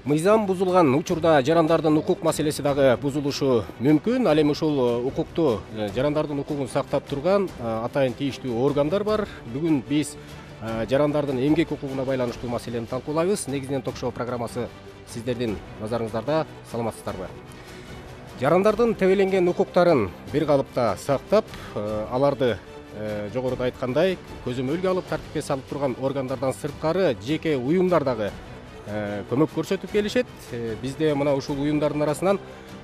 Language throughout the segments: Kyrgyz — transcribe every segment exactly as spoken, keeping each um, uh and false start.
Мыйзам бузулган учурда жарандардын укук маселеси дагы бузулушу мүмкүн. Ал эми ушул укукту, жарандардын укугун сактап турган атайын тийиштүү органдар бар. Бүгүн биз жарандардын эмгек укугуна байланыштуу маселени талкуулайбыз. Негизинен ток-шоу программасы сиздердин назарыңыздарда. Саламатсыздарбы? Жарандардын тебеленген укуктарын бир калыпта сактап, аларды жогоруда айткандай көзөмөлгө алып тартипке салып турган органдардан сырткары жеке уюмдар дагы көмөк көрсөтүп келишет. Бизде мына ушул уюмдардын арасынан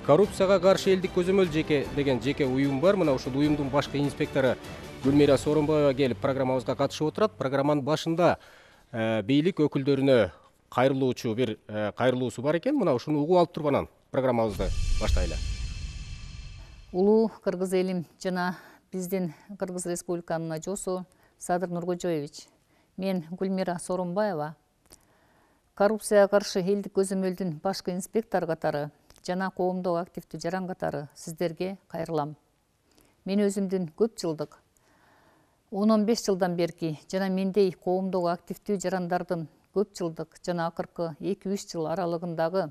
коррупцияга каршы элдик көзөмөл жеке деген жеке уюм бар. Мына ушул уюмдун башкы инспектору Гүлмира Сооронбаева келип программабызга катышып отурат. Программанын башында бийлик өкүлдөрүнө кайрылуучу бир кайрылуусу бар экен. Мына ушуну угуп алып туруп анан программабызды баштайлы. Улуу кыргыз элим жана биздин Кыргыз Республиканын ажоосу Садыр Нуркожоевич. Мен Гүлмира Сооронбаева коррупцияга каршы элдик көзөмөлдүн башкы инспектору катары жана коомдогу активдүү жаран катары сиздерге кайрылам. Мен өзүмдүн көп жылдык он он беш жылдан берки жана мендей коомдогу активдүү жарандардын көп жылдык жана акыркы эки үч жыл аралыгындагы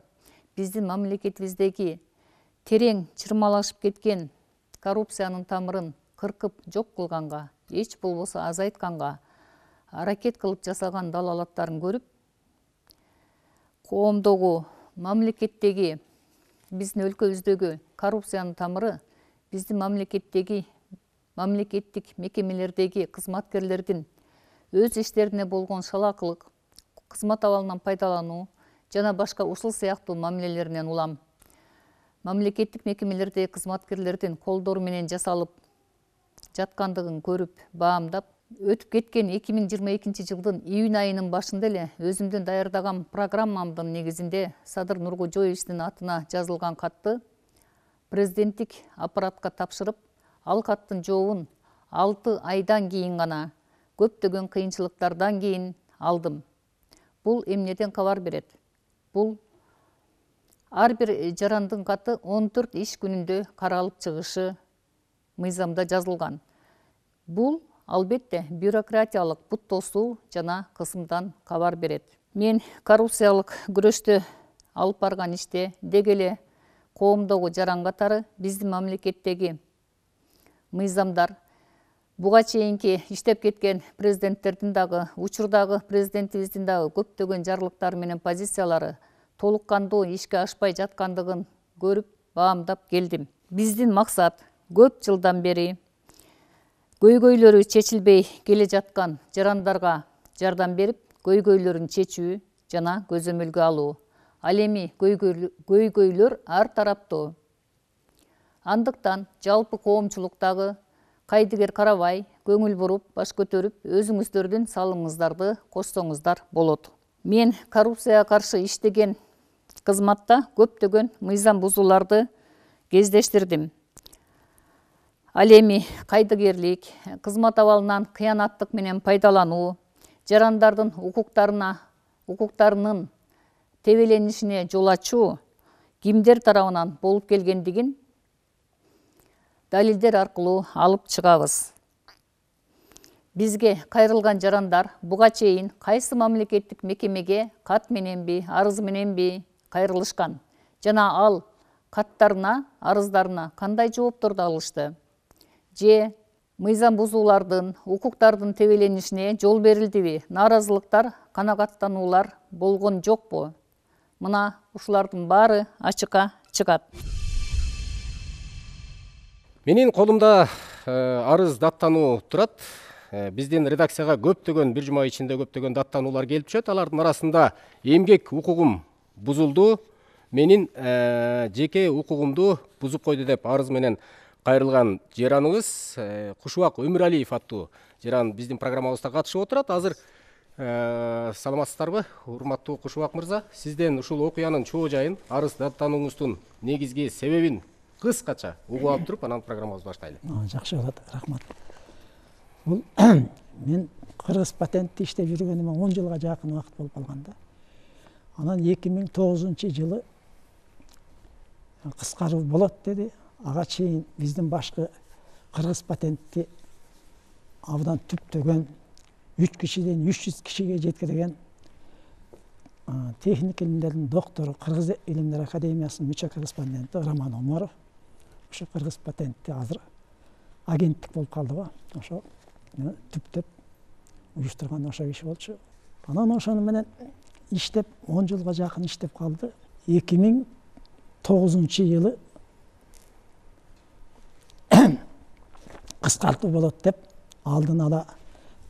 биздин мамлекетибиздеги терең чырмалашып кеткен коррупциянын тамырын кыркып жок кылганга, эч болбосо азайтканга аракет кылып жасаган далалаттарын көрүп, коомдогу, мамлекеттеги, биздин өлкөбүздөгү коррупциянын тамыры биздин мамлекеттеги, мамлекеттик мекемелердеги кызматкерлердин өз иштерине болгон шалаакылык, кызмат абалынан пайдалануу жана башка ушул сыяктуу мамилелеринен улам. Мамлекеттик мекемелердеги кызматкерлердин колдору менен жасалып жаткандыгын көрүп, баамдап, өтүп кеткен эки миң жыйырма экинчи жылдын июнь айынын башында эле өзүмдүн даярдаган программамдын негизинде Садыр Нуркожоевичтин атына жазылган катты президенттик аппаратка тапшырып, ал каттын жообун алты айдан кийин гана көптөгөн кыйынчылыктардан кийин алдым. Бул эмнеден кабар берет? Бул ар бир жарандын каты он төрт иш күнүндө каралып чыгышы мыйзамда жазылган. Бул албетте бюрократиялык буттоосуу жана кысымдан кабар берет. Мен коррупциялык күрөштө алып барган иште деги эле коомдогу жаран катары биздин мамлекеттеги мыйзамдар, буга чейинки иштеп кеткен президенттердин дагы, учурдагы президентибиздин дагы көптөгөн жарлыктары менен позициялары толук кандуу ишке ашпай жаткандыгын көрүп, баамдап келдим. Биздин максат көп жылдан бери көйгөйлөрү чечилбей келе жаткан жарандарга жардам берип, көйгөйлөрүн чечүү жана көзөмөлгө алуу. Ал эми көйгөйлөр ар тараптуу. Андыктан жалпы коомчулуктагы кайдыгер карабай, көңүл буруп, баш көтөрүп, өзүңүздөрдүн салымыңыздарды кошсоңуздар болот. Мен коррупцияга каршы иштеген кызматта көптөгөн мыйзам бузууларды кездештирдим. Ал эми кайдыгерлик, кызмат абалынан кыянаттык менен пайдалануу, жарандардын укуктарына, укуктарынын тебеленишине жол ачуу кимдер тарабынан болуп келгендигин далилдер аркылуу алып чыгабыз. Бизге кайрылган жарандар буга чейин кайсы мамлекеттик мекемеге кат мененби, арыз мененби кайрылышкан жана ал каттарына, арыздарына кандай жоопторду алышты? Же мыйзам бузуулардын, укуктардын тебеленишине жол берилдиби? Нааразылыктар, канагаттануулар болгон жокпу? Мына ушулардын баары ачыкка чыгат. Менин колумда арыз даттануу турат. Биздин редакцияга көптөгөн бир жума ичинде көптөгөн даттануулар келип түшөт. Алардын арасында эмгек укугум бузулду, менин жеке укугумду бузуп койду деп арыз менен кайрылган жараныбыз Кушубак Өмүралиев аттуу жаран биздин программабызда катышып отурат. Азыр саламатсыздарбы, урматтуу Кушубак мырза? Сизден ушул окуянын чоо жайын, арыз даттанууңуздун негизги себебин кыскача угуп алып туруп, анан программабызды баштайлы. Жакшы болот, рахмат. Бул мен Кыргыз патентте иштеп жүргөнүмө он жылга жакын убакыт болуп калган да. Анан эки миң тогузунчу жылы кыскаруу болот деди. Ага чейин биздин башкы Кыргыз патентти абдан түптөгөн үч кишиден үч жүз кишиге жеткирген техник илимдердин доктору, Кыргыз илимдер академиясынын мүчө корреспонденти Роман Омаров. Ошо кыргыз патентти азыр агенттик болуп калды го. Ошо түптөп уюштурган ошо иш болчу. Анан ошону менен иштеп он жылга жакын иштеп калды. эки миң тогузунчу жылы кыскартуу болот деп алдын ала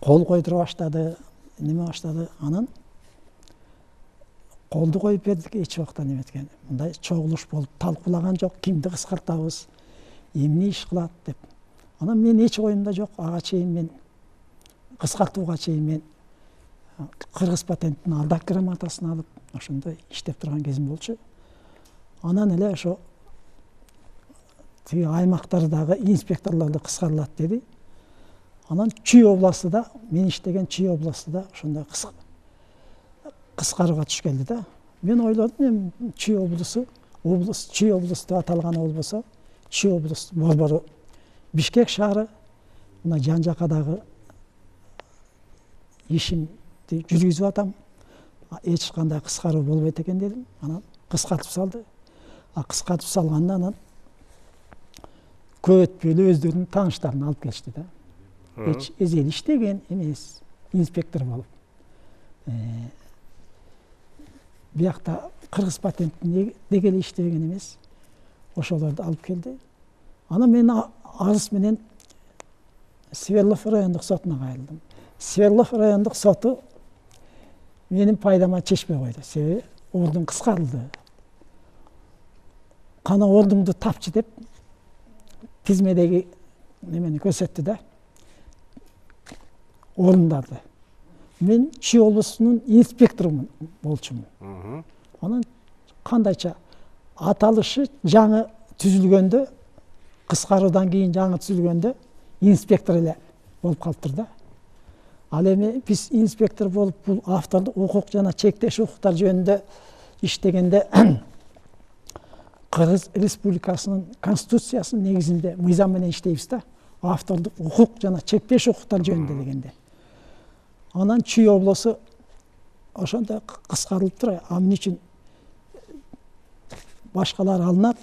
кол койдура баштады, неме баштады. Анан колду коюп бердик, эч убакта неметкен. Мындай чогулуш болуп талкуулаган жок, кимди кыскартабыз, эмне иш кылат деп. Анан мен эч оюмда жок, ага чейин мен кыскартууга чейин мен кыргыз патенттин алдак грамотасын алып, ошондой иштеп турган кезим болчу. Анан эле ошо тиги аймактардагы инспекторлорду кыскарылат деди. Анан Чүй областыда, мен иштеген Чүй областыда ошондой кыскарууга түш келди да. Мен ойлодум, эми Чүй облусу, облус, Чүй облусу деп аталганы болбосо, Чүй облусу борбору Бишкек шаары, мына жан жакадагы ишимди жүргүзүп атам. Эч кандай кыскаруу болбойт экен дедим. Анан кыскартып салды. А кыскартып салганда анан көп өтпөй эле өздөрүнүн тааныштарын алып келишти да. Эч эзел иштеген эмес, инспектор болуп. Биякта кыргыз патенттин деги эле иштеген эмес. Ошолорду алып келди. Анан мен арыз менен Свердлов райондук сотуна кайрылдым. Свердлов райондук соту менин пайдама чечпей койду. Себеби ордун кыскарылды. Кана ордуңду тапчы деп тизмедеги немени көрсөттү да. Орундарды. Мен Чүй облусунун инспекторумун болчумун. Анан кандайча аталышы жаңы түзүлгөндө, кыскаруудан кийин жаңы түзүлгөндө инспектор эле болуп калыптыр да. Ал эми биз инспектор болуп бул автордук укук жана чектеш укуктар жөнүндө иштегенде Кыргыз Республикасынын конституциясынын негизинде мыйзам менен иштейбиз да. Автордук укук жана чектеш укуктар жөнүндө дегенде. Анан Чүй облусу ошондой кыскарылып турат. Амын үчүн башкалар алынат,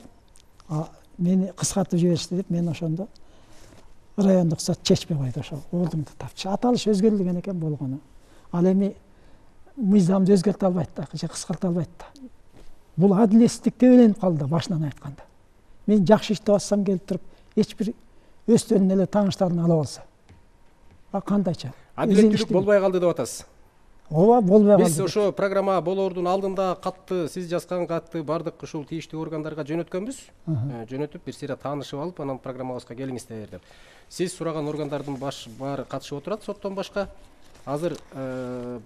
мени кыскартып жиберишти деп мен ошондо райондук сот чечпей койду. Ошо ордуңду тапчы. Аталыш өзгөрүлгөн экен болгону. Ал эми мыйзамды өзгөртө албайт да, же кыскарта албайт да. Бул адилетсиздикке өлөнүп калды башынан айтканда. Мен жакшы иштеп атсам келип туруп, эч бир өздөрүнүн эле тааныштарын алып алса. А кандайча? Адилеттүүлүк болбой калды деп атасыз. Ооба, болбой калды. Биз ошо программа болоордун алдында катты, сиз жазган катты бардык ушул тийиштүү органдарга жөнөткөнбүз. Жөнөтүп бир сыйра таанышып алып, анан программабызга келиңиздер деп. Сиз сураган органдардын баш баары катышып отурат соттон башка. Азыр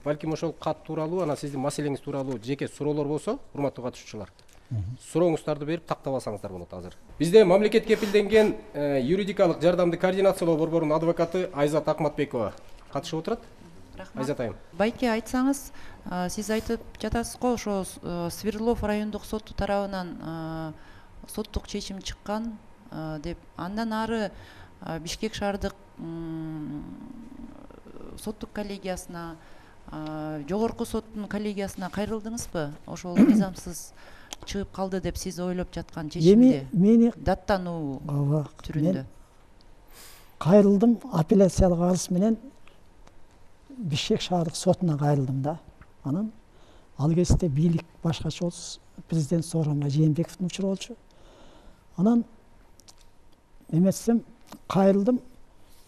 балким ошол кат тууралуу, анан сиздин маселеңиз тууралуу жеке суроолор болсо, урматтуу катышуучулар, сурооңуздарды берип тактап алсаңыздар болот азыр. Бизде мамлекет кепилденген юридикалык жардамды координациялоо борборунун адвокаты Айзат Акматбекова катышып отурат. Айзат айым. Байке, айтсаңыз, сиз айтып жатасыз го, ошо Свердлов райондук соту тарабынан соттук чечим чыккан деп. Андан ары Бишкек шаардык соттук коллегиясына, жогорку соттун коллегиясына кайрылдыңызбы? Ошол мыйзамсыз чыгып калды деп сиз ойлоп жаткан чечимди мени даттануу түрүндө. Кайрылдым, апелляциялык арыз менен Бишкек шаардык сотуна кайрылдым да. Анан ал кезде бийлик башкача болчу, президент Сооронбай Жээнбековдун учуру болчу. Анан эметсем кайрылдым,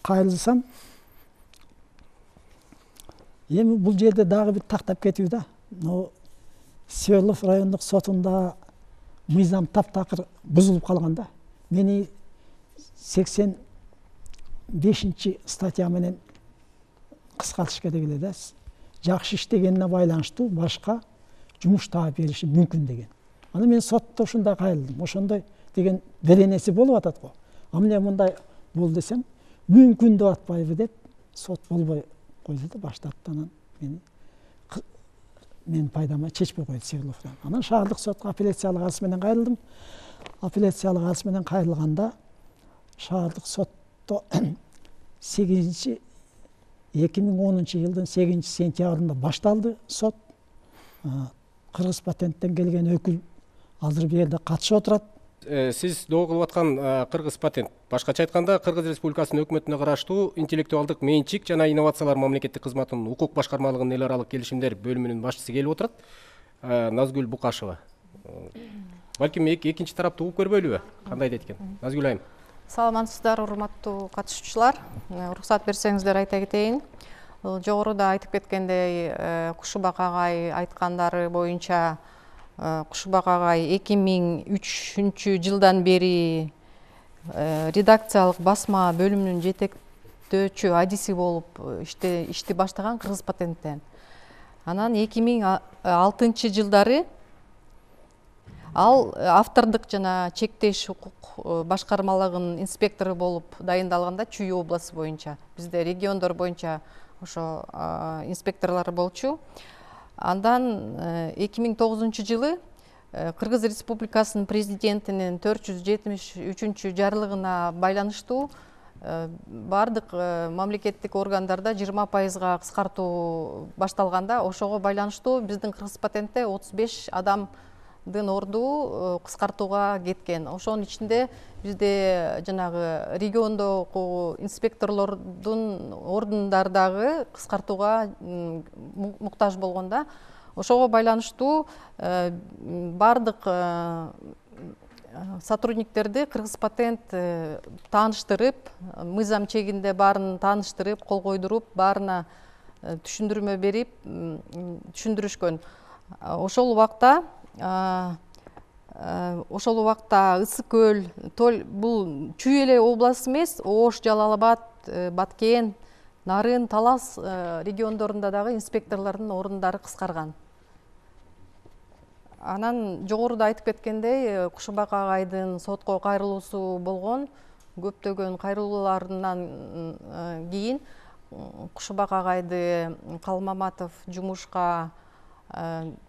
кайрылсам эми бул жерде дагы бир тактап кетүү да. Но Свердлов райондук сотунда мыйзам таптакыр бузулуп калган да. Мени сексен бешинчи статья менен кыскартыш керек эле да. Жакшы иштегенине байланыштуу башка жумуш таап бериши мүмкүн деген. Аны мен сотто ушундай кайрылдым. Ошондой деген беренеси болуп атат го. А эмне мындай бол десем, мүмкүн деп атпайбы деп сот болбой койду да, баштатты. Анан мени мен пайдама чечпей койду Свердловдон. Анан шаардык сотко апелляциялык арыз менен кайрылдым. Апелляциялык арыз менен кайрылганда шаардык сотто сегизинчи эки миң онунчу жылдын сегизинчи сентябрында башталды сот. кыргыз патенттен келген өкүл азыр бул жерде катышып отурат. Сиз доо кылып аткан кыргыз патент, башкача айтканда Кыргыз Республикасынын өкмөтүнө караштуу интеллектуалдык менчик жана инновациялар мамлекеттик кызматынын укук башкармалыгынын эл аралык келишимдер бөлүмүнүн башчысы келип отурат, Назгүл Букашева. Балким экинчи тараптуу угуп көрбөйлүбү? Кандай дейт экен? Назгүл айым. Саламатсыздар, урматтуу катышуучулар. Уруксат берсеңиздер айта кетейин. Жогоруда айтып кеткендей, Кушубак агай айткандары боюнча Кушубак агай эки миң үчүнчү жылдан бери редакциялык басма бөлүмүнүн жетектөөчү адиси болуп ишти баштаган Кыргыз патенттен. Анан эки миң алтынчы жылдары ал автордук жана чектеш укук башкармалыгынын инспектору болуп дайындалганда Чүй областы боюнча, бизде региондор боюнча ошо инспекторлор болчу. Андан эки миң тогузунчу жылы Кыргыз Республикасынын президентинин төрт жүз жетимиш үчүнчү жарлыгына байланыштуу бардык мамлекеттик органдарда жыйырма пайызга кыскартуу башталганда, ошого байланыштуу биздин Кыргыз патентте отуз беш адамдын орду кыскартууга кеткен. Ошонун ичинде бизде жанагы региондогу инспекторлордун ордундары дагы кыскартууга муктаж болгондо, ошого байланыштуу бардык сотрудниктерди Кыргыз патент тааныштырып, мыйзам чегинде баарын тааныштырып, кол койдуруп, баарына түшүндүрмө берип, түшүндүрүшкөн. Ошол убакта ошол убакта Ысык көл, бул Чүй эле областы эмес, Ош, Жалал Абад, Баткен, Нарын, Талас региондорунда дагы инспекторлордун ордундары кыскарган. Анан жогоруда айтып кеткендей, Кушубак агайдын сотко кайрылуусу болгон. Көптөгөн кайрылууларынан кийин Кушубак агайды Калмаматов жумушка,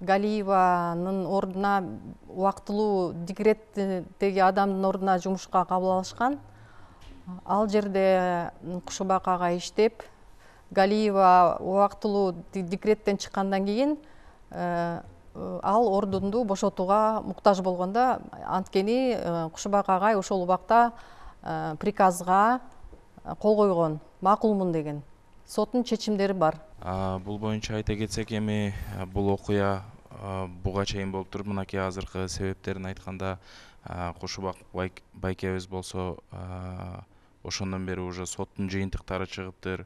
Галиеванын ордуна убактылуу декреттеги адамдын ордуна жумушка кабыл алышкан. Ал жерде Кушубак агай иштеп, Галиева убактылуу декреттен чыккандан кийин ал ордунду бошотууга муктаж болгондо, анткени Кушубак агай ошол убакта приказга кол койгон, макулмун деген. Соттун чечимдери бар. Бул боюнча айта кетсек, эми бул окуя буга чейин болуп туруп, мынакей азыркы себептерин айтканда, Кушубак байкебиз болсо ошондон бери уже соттун жыйынтыктары чыгыптыр,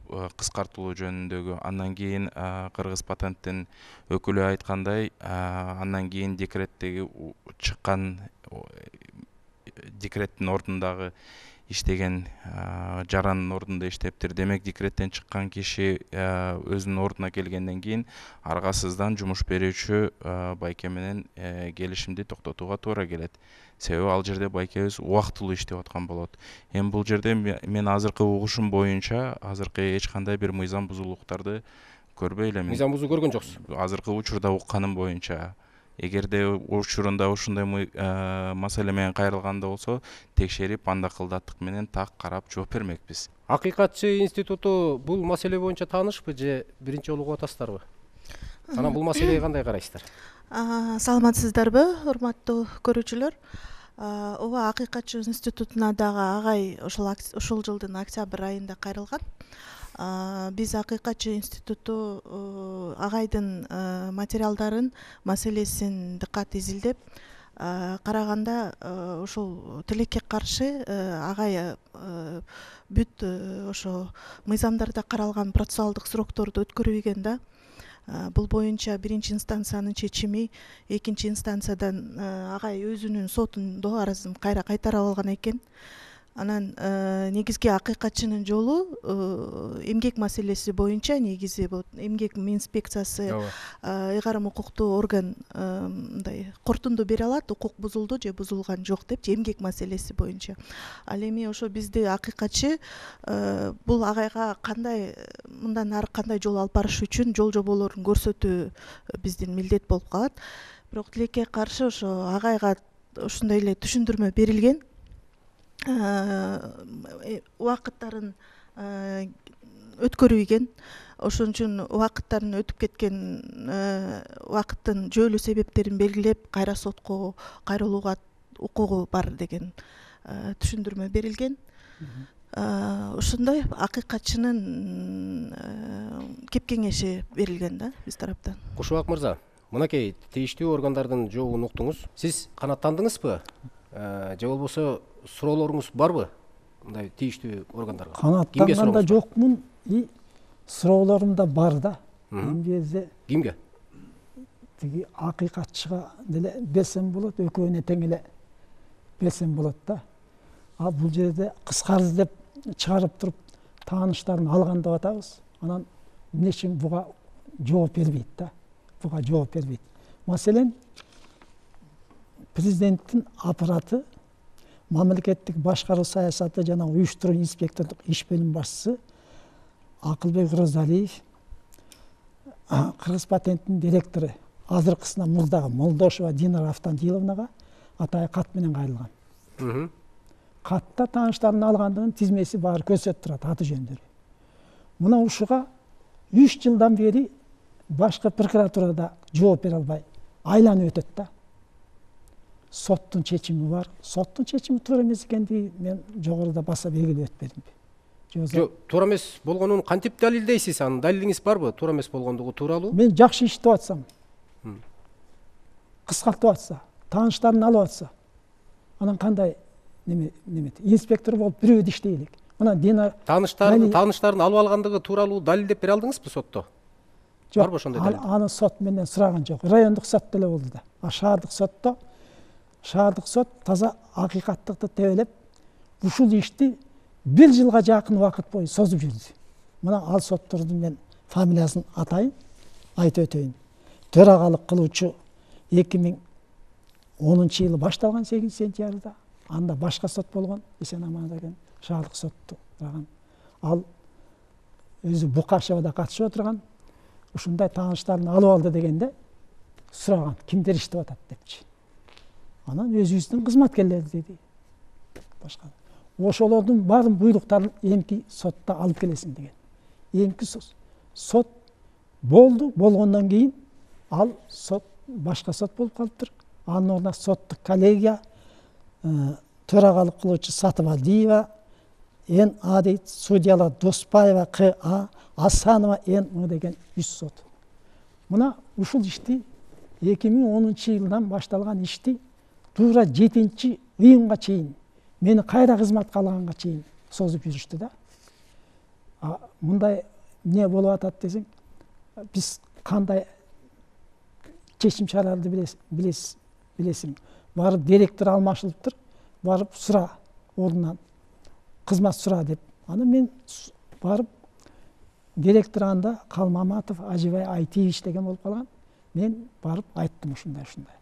кыскартылуу жөнүндөгү. Андан кийин Кыргыз патенттин өкүлү айткандай, андан кийин декреттеги чыккан декреттин ордундагы иштеген жарандын ордунда иштептир. Демек, декреттен чыккан киши өзүнүн ордуна келгенден кийин аргасыздан жумуш берүүчү байке менен келишимди токтотууга туура келет. Себеби ал жерде байкебиз убактылуу иштеп аткан болот. Эми бул жерде мен азыркы угушум боюнча азыркы эч кандай бир мыйзам бузуулуктарды көрбөй элем. Мыйзам бузуу көргөн жоксуз? Азыркы учурда укканым боюнча. Эгерде учурунда ушундай маселе менен кайрылганда болсо, текшерип, анда кылдаттык менен так карап жооп бермекпиз. Акыйкатчы институту бул маселе боюнча таанышпы же биринчи жолу угуп атасыздарбы? Анан бул маселеге кандай карайсыздар? Саламатсыздарбы, урматтуу көрүүчүлөр? Ооба, Акыйкатчы институтуна дагы агай ушул жылдын октябрь айында кайрылган. Биз Акыйкатчы институту агайдын материалдарын, маселесин дыккат изилдеп караганда, ушул тилекке каршы агай бүт ошо мыйзамдарда каралган процессуалдык срокторду өткөрбөгөн да. Бул боюнча биринчи инстанциянын чечими, экинчи инстанциядан агай өзүнүн сотунда арызын кайра кайтарып алган экен. Анан негизги Акыйкатчынын жолу эмгек маселеси боюнча, негизи бул эмгек инспекциясы ыйгарым укуктуу орган мындай кортунду бере алат, укук бузулду же бузулган жок деп, эмгек маселеси боюнча. Ал эми ошо бизди Акыйкатчы бул агайга кандай мындан ары кандай жол алып барыш үчүн жол жоболорун көрсөтүү биздин милдет болуп калат. Бирок тилекке каршы ошо агайга ушундай эле түшүндүрмө берилген. Убакыттарын өткөрбөгөн. ошон үчүн убакыттардын өтүп кеткен убакыттын жөлүү себептерин белгилеп кайра сотко кайрылууга укугу бар деген түшүндүрмө берилген. Ошондой акыйкатчынын кеп кеңеши берилген да биз тараптан. Кушубак мырза, мынакей тийиштүү органдардын жообун уктуңуз. Сиз канааттандыңызбы? Же болбосо суроолоруңуз барбы? Мындай тийиштүү органдарга. Канааттанганда жокмун, и суроолорум да бар да. Эмгеде кимге? Тиги акыйкатчыга деле берсем болот, экөөнө тең эле берсем болот да. А бул жерде кыскарды деп чыгарып туруп тааныштарын алган деп атабыз. Анан эмне үчүн буга жооп бербейт да. Буга жооп бербейт. Маселен, президенттин аппараты, мамлекеттик башкаруу саясаты жана уюштуруу инспектордук иш бөлүм башчысы Акылбек Розалиев, Кыргыз патенттин директору азыркысына мурдагы Молдошева Динара Автандиловнага атайы кат менен кайрылган. Катта тааныштарын алгандыгын тизмеси баары көрсөтүп турат, аты жөндөрү. Мына ушуга үч жылдан бери башкы прокуратурада жооп бере албай айланып өтөт да. Соттун чечими бар. Соттун чечими туура эмес экендиги мен жогоруда баса белгилеп бердимби? Жок, туура эмес болгонун кантип далилдейсиз? Анын далилиңиз барбы? Туура эмес болгондугу тууралуу? Мен жакшы иштеп атсам, кыскартып атса, тааныштарын алып атса, анан кандай неме неме инспектор болуп бирөөдө иштей элек. Мына Дина тааныштарын тааныштарын алып алгандыгы тууралуу далилдеп бере алдыңызбы сотто? Барбы ошондой далил? Аны сот менен сураган жок. Райондук сотто эле болду да. А шаардык сотто шаардык сот таза акыйкаттыкты тебелеп, ушул ишти бир жылга жакын убакыт бою созуп жүрдү. Мына ал соттордун мен фамилиясын атайын, айтып өтөйүн. Төрагалык кылуучу эки миң онунчу жылы башталган сегизинчи сентябрда. Анда башка сот болгон, Эсен Аман деген шаардык сотту турган. Ал өзү Букашевада катышып отурган. Ушундай тааныштарын алып алды дегенде сураган, кимдер иштеп атат депчи. Анан өзүбүздүн кызматкерлери деди. Башка. Ошолордун баарын буйруктарын эмки сотто алып келесиң деген. Эмки сот болду, болгондон кийин ал сот башка сот болуп калыптыр. Анын ордуна соттук коллегия төрагалык кылуучу Сатыбалдиева, Н А дейт, судьялар Доспаева, К А, Асанова, Н М деген үч сот. Мына ушул ишти эки миң онунчу жылдан башталган ишти туура жетинчи ыйымга чейин, мени кайра кызматка алганга чейин созуп жүрүштү да. А мындай эмне болуп атат десең, биз кандай чечим чараларды билесиз, билесиң. Барып директор алмашылыптыр, барып сура ордунан кызмат сура деп. Аны мен барып директор анда Калмаматов Ажибай Айтиевич деген болуп калган. Мен барып айттым ушундай ушундай.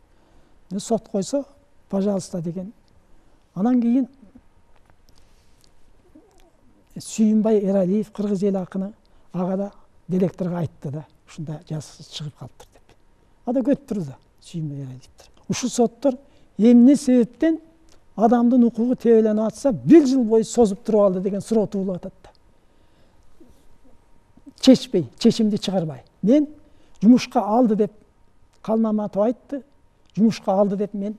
Мен сот койсо, пожалуйста деген. Анан кийин Сүйүнбай Эралиев, кыргыз эл акыны, ага да директорго айтты да, ушундай жазасы чыгып калыптыр деп. Ада көтүп турду да, Сүйүнбай Эралиевдер. Ушул соттор эмне себептен адамдын укугу тебеленип атса, бир жыл бою созуп туруп алды деген суроо туулуп атат да. Чечпей, чечимди чыгарбай. Мен жумушка алды деп Калмаматов айтты, жумушка алды деп мен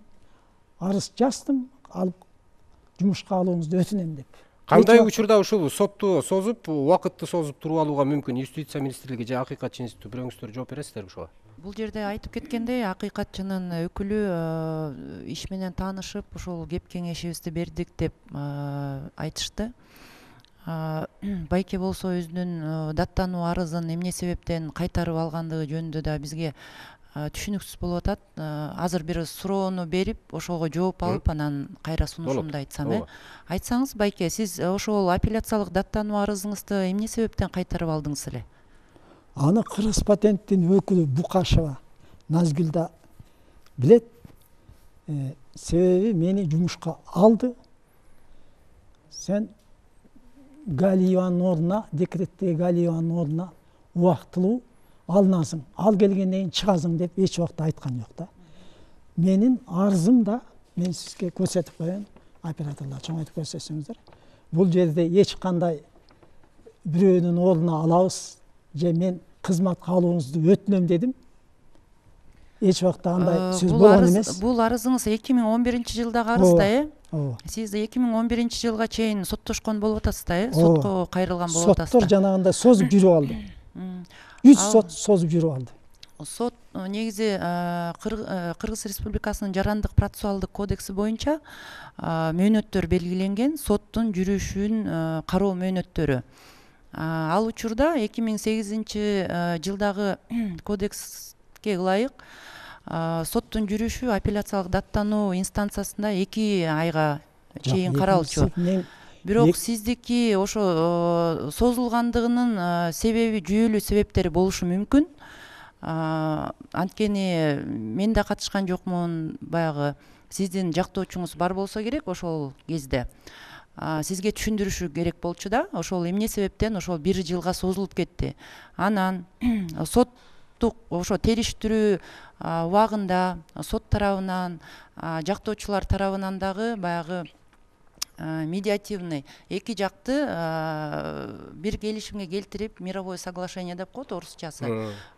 арыз жаздым, алып жумушка алууңузду өтүнөм деп. Кандай учурда ушул сотту созуп, убакытты созуп туруп алууга мүмкүн? Юстиция министрлиги же акыйкатчы институту бирөөңүздөр жооп бересиздерби ушуга? Бул жерде айтып кеткендей, акыйкатчынын өкүлү иш менен таанышып, ушул кеп кеңешибизди бердик деп айтышты. Байке болсо өзүнүн даттануу арызын эмне себептен кайтарып алгандыгы жөнүндө да бизге түшүнүксүз болуп атат. Азыр бир суроону берип, ошого жооп алып, анан кайра сунушумду айтсам, э? Айтсаңыз, Байке, сиз ошол апелляциялык даттануу арызыңызды эмне себептен кайтарып алдыңыз эле? Аны Кыргыз патенттин өкүлү Букашева Назгүл да билет. Себеби мени жумушка алды. Сен Галиеванын ордуна, декреттеги Галиеванын ордуна убактылуу алынасың, ал келгенден кийин чыгасың деп эч убакта айткан жок да. Менин арызым да, мен сизге көрсөтүп коеюн, операторлор чоңойтуп көрсөтсөңүздөр. Бул жерде эч кандай бирөөнүн ордуна алабыз же мен кызматка алууңузду өтүнөм дедим. Эч убакта андай сөз Бул болгон арыз- эмес. бул арызыңыз эки миң он биринчи жылдагы арыз да, э? Ооба. Сиз эки миң он биринчи жылга чейин соттошкон болуп атасыз да, э? Ооба. Сотко кайрылган болуп атасыз Соттор да. жанагындай созуп жүрүп алды. М. Үч Ал- сот созуп жүрүп алды. Сот э, негизи э, Кыр- э, Кыргыз Республикасынын жарандык процессуалдык кодекси боюнча э, мөөнөттөр белгиленген, соттун жүрүшүн э, кароо мөөнөттөрү. А, Ал учурда эки миң сегизинчи э, жылдагы кодекске ылайык э, соттун жүрүшү апелляциялык даттануу инстанциясында эки айга чейин каралчу. Бирок эк- сиздики ошо э, созулгандыгынын э, себеби жүйөлүү себептери болушу мүмкүн. А, Анткени мен да катышкан жокмун, баягы сиздин жактоочуңуз бар болсо керек ошол кезде. А, Сизге түшүндүрүшү керек болчу да, ошол эмне себептен ошол бир жылга созулуп кетти. Анан соттук ошо териштирүү а, убагында сот тарабынан, а, жактоочулар тарабынан дагы баягы а, медиативный эки жакты а, бир келишимге келтирип, мировое соглашение деп коет орусчасы,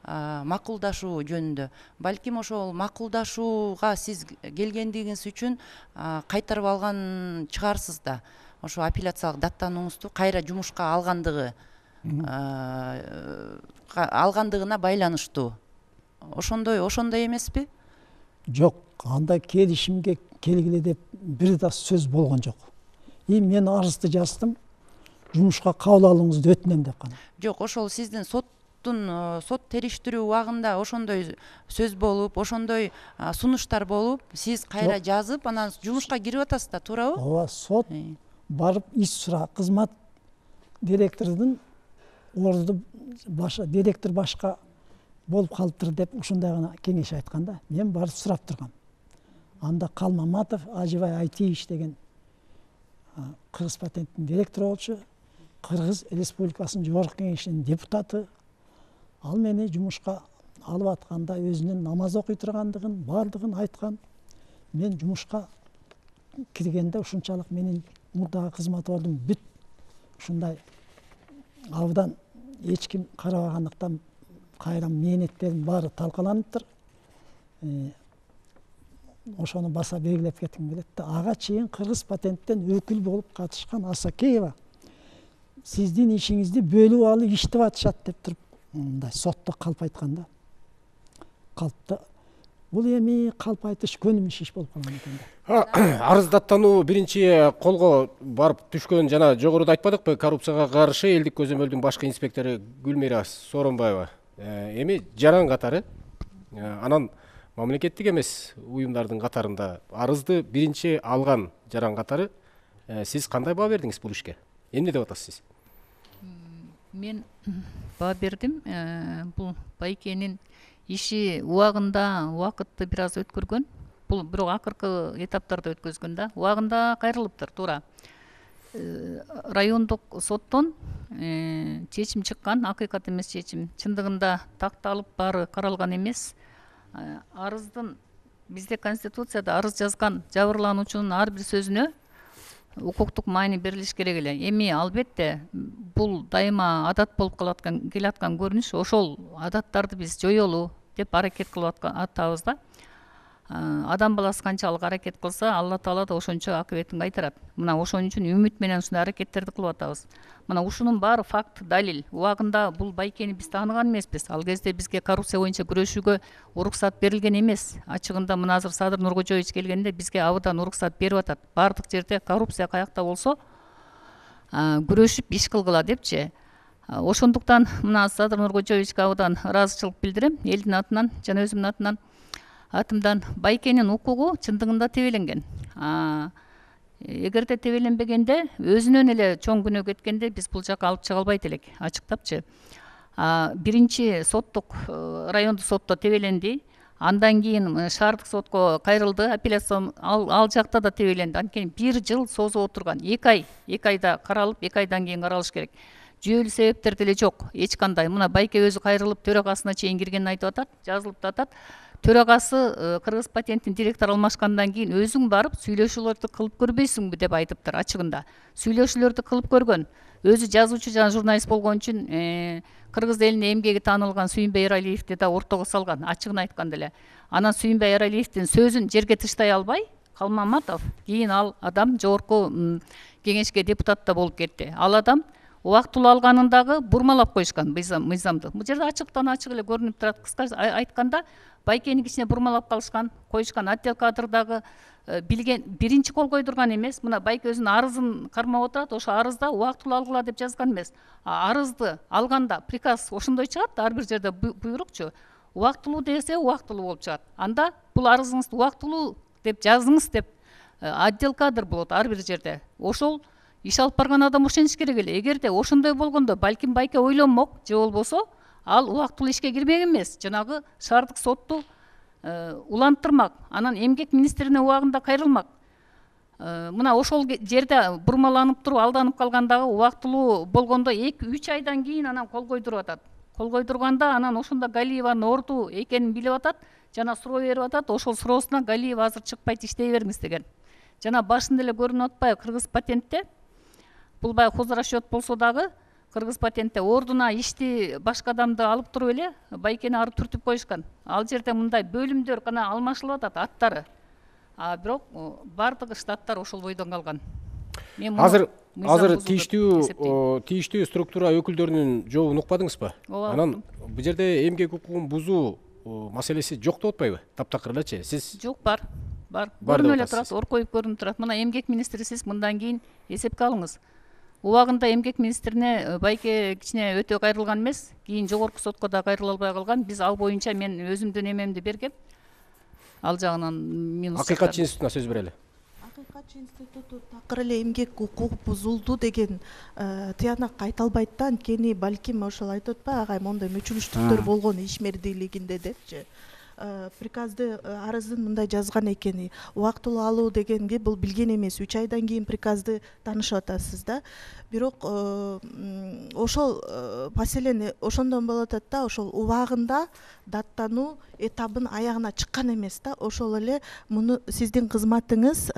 а, макулдашуу жөнүндө. Балким ошол макулдашууга сиз келгендигиңиз үчүн а, кайтарып алган чыгарсыз да. Ошо апелляциялык даттанууңузду кайра жумушка алгандыгы а, ка- алгандыгына байланыштуу. Ошондой ошондой эмеспи? Жок, андай келишимге келгиле деп бир да сөз болгон жок. И мен арызды жаздым, жумушка кабыл алууңузду өтүнөм деп кана. Жок, ошол сиздин соттун э, сот териштирүү убагында ошондой сөз болуп, ошондой а, сунуштар болуп, сиз кайра Жок. жазып, анан жумушка кирип атасыз да, туурабы? Ооба, сот Э. барып иш сура, кызмат директордун орду башка директор башка болуп калыптыр деп ушундай гана кеңеш айткан да. Мен барып сурап тургам. Анда Калмаматов Ажыбай Айтиевич деген а, Кыргыз патенттин директору болчу, Кыргыз Республикасынын жогорку кеңешинин депутаты. Ал мени жумушка алып атканда өзүнүн намаз окуй тургандыгын, бардыгын айткан. Мен жумушка киргенде ушунчалык менин мурдагы кызмат ордум бүт ушундай абдан эч ким карабагандыктан кайра мээнеттерим баары талкаланыптыр. Э, Ошону баса белгилеп кетким келет да. Ага чейин Кыргыз патенттен өкүл болуп катышкан Асакеева сиздин ишиңизди бөлүп алып иштеп атышат деп туруп мындай сотто калп айткан да. Калпты бул эми калп айтыш көнүмүш иш болуп калган экен да. Арыз даттануу биринчи колго барып түшкөн, жана жогоруда айтпадыкпы, коррупцияга каршы элдик көзөмөлдүн башкы инспектору Гүлмира Сооронбаева. Э, Эми жаран катары, э, анан мамлекеттик эмес уюмдардын катарында арызды биринчи алган жаран катары, э, сиз кандай баа бердиңиз бул ишке? Эмне деп атасыз сиз? Мен баа бердим. Э, Бул Байкенин иши убагында убакытты бир аз өткөргөн. Бул бирок акыркы этаптарда өткөзгөн да. Убагында кайрылыптыр, туура. Э, Райондук соттон э, чечим чыккан, акыйкат эмес чечим. Чындыгында такталып баары каралган эмес. Э, Арыздын бизде Конституцияда арыз жазган жабырлануучунун ар бир сөзүнө укуктук маани берилиш керек эле. Эми албетте бул дайыма адат болуп калаткан келаткан көрүнүш. Ошол адаттарды биз жоёлу деп аракет кылып атабыз да. А, Адам баласы канчалык аракет кылса, Алла Таала да ошончо акыбетин кайтарат. Мына ошон үчүн үмүт менен ушундай аракеттерди кылып атабыз. Мына ушунун баары факт, далил. Убагында бул Байкени биз тааныган эмеспиз. Ал кезде бизге коррупция боюнча күрөшүүгө уруксат берилген эмес. Ачыгында мына азыр Садыр Нуркожоевич келгенде бизге абдан уруксат берип атат. Баардык жерде коррупция каякта болсо а, күрөшүп иш кылгыла депчи. А, Ошондуктан мына Садыр Нуркожоевичке абдан ыраазычылык билдирем, элдин атынан жана өзүмдүн атынан. Атымдан Байкенин укугу чындыгында тебеленген. А, Эгерде тебеленбегенде, өзүнөн эле чоң күнөө кеткенде биз бул жака алып чыга албайт элек, ачыктапчы. А, Биринчи соттук э, райондук сотто тебеленди. Андан кийин э, шаардык сотко кайрылды, апелляция ал, ал жакта да тебеленди. Анткени бир жыл созуп отурган. эки ай, эки айда каралып, эки айдан кийин каралыш керек. жүйөлүү себептер деле жок эч кандай. Мына байке өзү кайрылып төрагасына чейин киргенин айтып атат, жазылып атат. Төрагасы Кыргыз патенттин директору алмашкандан кийин өзүң барып сүйлөшүүлөрдү кылып көрбөйсүңбү деп айтыптыр ачыгында. Сүйлөшүүлөрдү кылып көргөн. Өзү жазуучу жана журналист болгон үчүн кыргыз элине эмгеги таанылган Сүйүнбай Эралиевди да ортого салган, ачыгын айтканда эле. Анан Сүйүнбай Эралиевдин сөзүн жерге тыштай албай, Калмаматов кийин ал адам жогорку кеңешке депутат да болуп кетти. Ал адам убактылуу алганын дагы бурмалап коюшкан мыйзамды. Бул жерде ачыктан ачык эле көрүнүп турат. Кыскасы айтканда, байкенин кичине бурмалап калышкан, коюшкан. Отдел кадрдагы билген биринчи кол койдурган эмес. Мына байке өзүнүн арызын кармап отурат. Ошо арызда убактылуу алгыла деп жазган эмес. Арызды алганда приказ ошондой чыгат, ар бир жерде буйрукчу. Убактылуу десе убактылуу болуп чыгат. Анда бул арызыңызды убактылуу деп жазыңыз деп отдел кадр болот ар бир жерде. Ошол иш алып барган адам ошентиш керек эле. Эгерде ошондой болгондо балким байке ойлонмок, же болбосо ал убактылуу ишке кирмек эмес, жанагы шаардык сотту уланттырмак, анан эмгек министрине убагында кайрылмак. Мына ошол жерде бурмаланып туруп алданып калгандагы убактылуу болгондо эки үч айдан кийин анан кол койдуруп атат. Кол койдурганда анан ошондо Галиеванын орду экенин билип атат, жана суроо берип атат. Ошол суроосуна Галиева азыр чыкпайт, иштей бериңиз деген. Жана башында эле көрүнүп атпайбы Кыргыз патентте? Бул баягы хозрасчет болсо дагы Кыргыз патентте ордуна ишти башка адамды алып туруп эле байкени ары түртүп коюшкан. Ал жерде мындай бөлүмдөр гана алмашылып атат аттары. А бирок бардыгы штаттар ошол бойдон калган. Азыр азыр тийиштүү тийиштүү структура өкүлдөрүнүн жообун укпадыңызбы? Анан бул жерде эмгек укугун бузуу маселеси жок деп атпайбы? Таптакыр элечи. Сиз жок бар. Бар. Көрүнүп эле турат, оркоюп көрүнүп турат. Мына эмгек министри сиз мындан кийин эсепке алыңыз. Убагында эмгек министрине байке кичине өтө кайрылган эмес, кийин жогорку сотко да кайрыла албай калган. Биз ал боюнча мен өзүмдүн эмемди бергем. Ал жагынан минус. Акыйкатчы институтуна сөз берели. Акыйкатчы институту такыр эле эмгек укугу бузулду деген тыянак айта албайт да, анткени балким ошол айтып атпайбы, агай мондой мүчүлүштүктөр болгон ишмердүүлүгүндө депчи. Приказды арыздын мындай жазган экени, убактылуу алуу дегенге бул билген эмес. үч айдан кийин приказды таанышып атасыз да. Бирок ошол маселени ошондон болуп атат да, ошол убагында даттануу этабын аягына чыккан эмес да. Ошол эле муну сиздин кызматыңыз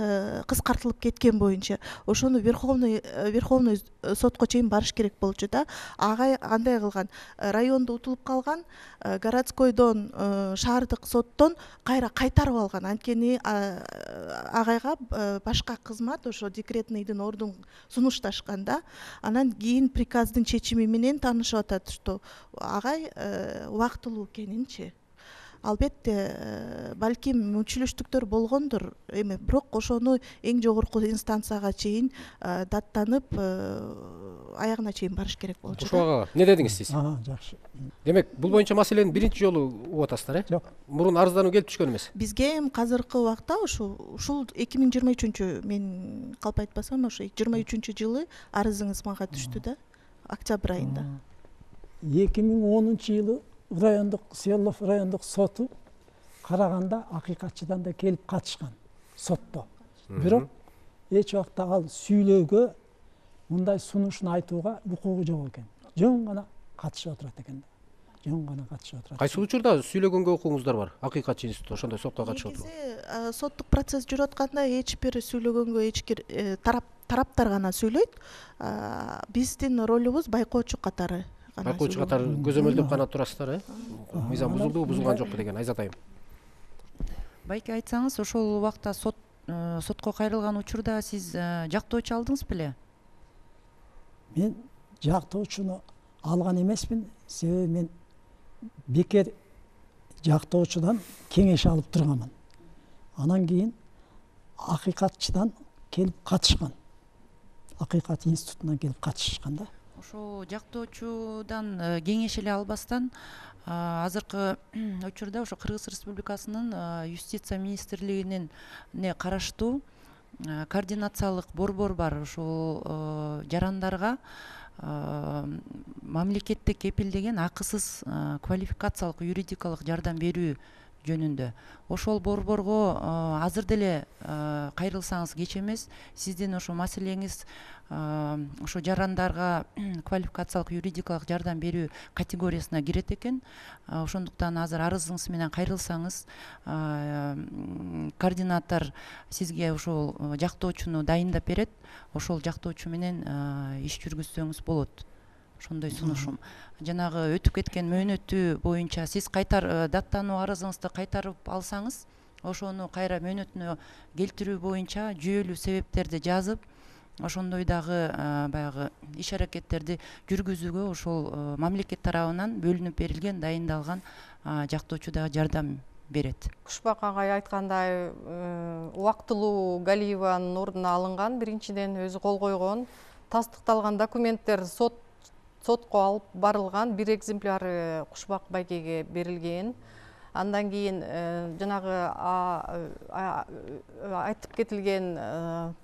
кыскартылып кеткен боюнча ошону верховный верховный сотко чейин барыш керек болчу да. Агай андай кылган, райондо утулуп калган, городскойдон шаардык соттон кайра кайтарып алган. Анткени агайга башка кызмат ошо декретныйдын ордун сунушташкан да. Анан кийин приказдын чечими менен таанышып атат, что агай убактылуу экенинчи. Албетте балким мүчүлүштүктөр болгондур эми, бирок ошону эң жогорку инстанцияга чейин даттанып аягына чейин барыш керек болчу. Ошого эмне дедиңиз сиз? Жакшы. Демек, бул боюнча маселени биринчи жолу угуп атасыздар, э? Жок. Мурун арыздануу келип түшкөн эмес. Бизге эми азыркы убакта ушул ушул эки миң жыйырма үчүнчү, мен калп айтпасам, ошо жыйырма үчүнчү жылы арызыңыз мага түштү да, октябрь айында. эки миң онунчу жылы райондук Свердлов райондук соту караганда акыйкатчыдан да келип катышкан сотто. Бирок эч убакта ал сүйлөөгө, мындай сунушун айтууга укугу жок экен. Жөн гана катышып отурат экен. Жөн гана катышып отурат. Кайсы учурда сүйлөгөнгө укугуңуздар бар? Акыйкатчы институту ошондой сотко катышып отурат. Негизи соттук процесс жүрүп атканда эч бир сүйлөгөнгө эч бир тарап тараптар гана сүйлөйт. Биздин ролубуз байкоочу катары. Байкоочу катары көзөмөлдөп гана турасыздар, э? Мыйзам бузулдубу, бузулган жокпу деген Айзат айым. Байке айтсаңыз, ошол убакта сот сотко кайрылган учурда сиз жактоочу алдыңыз беле? Мен жактоочуну алган эмесмин, себеби мен бекер жактоочудан кеңеш алып турганмын. Анан кийин акыйкатчыдан келип катышкан. Акыйкат институтунан келип катышкан да. Ошо жактоочудан кеңеш эле албастан азыркы учурда ошо Кыргыз Республикасынын юстиция министрлигинин караштуу координациялык борбор бар. Ошол жарандарга мамлекеттик кепилдеген акысыз квалификациялык юридикалык жардам берүү жөнүндө. Ошол борборго азыр деле кайрылсаңыз кеч эмес. Сиздин ошо маселеңиз ошо жарандарга квалификациялык юридикалык жардам берүү категориясына кирет экен. Ошондуктан азыр арызыңыз менен кайрылсаңыз, координатор сизге ошол жактоочуну дайындап берет. Ошол жактоочу менен иш жүргүзсөңүз болот. Ошондой сунушум. Жанагы өтүп кеткен мөөнөтү боюнча сиз кайтар даттануу арызыңызды кайтарып алсаңыз, ошону кайра мөөнөтүнө келтирүү боюнча жүйөлүү себептерди жазып, ошондой дагы баягы иш аракеттерди жүргүзүүгө ошол мамлекет тарабынан бөлүнүп берилген, дайындалган жактоочу дагы жардам берет. Кушбак агай айткандай, убактылуу Галиеванын ордуна алынган, биринчиден өзү кол койгон, тастыкталган документтер сот сотко алып барылган, бир экземпляры Кушбак байкеге берилген. Андан кийин жанагы айтып кетилген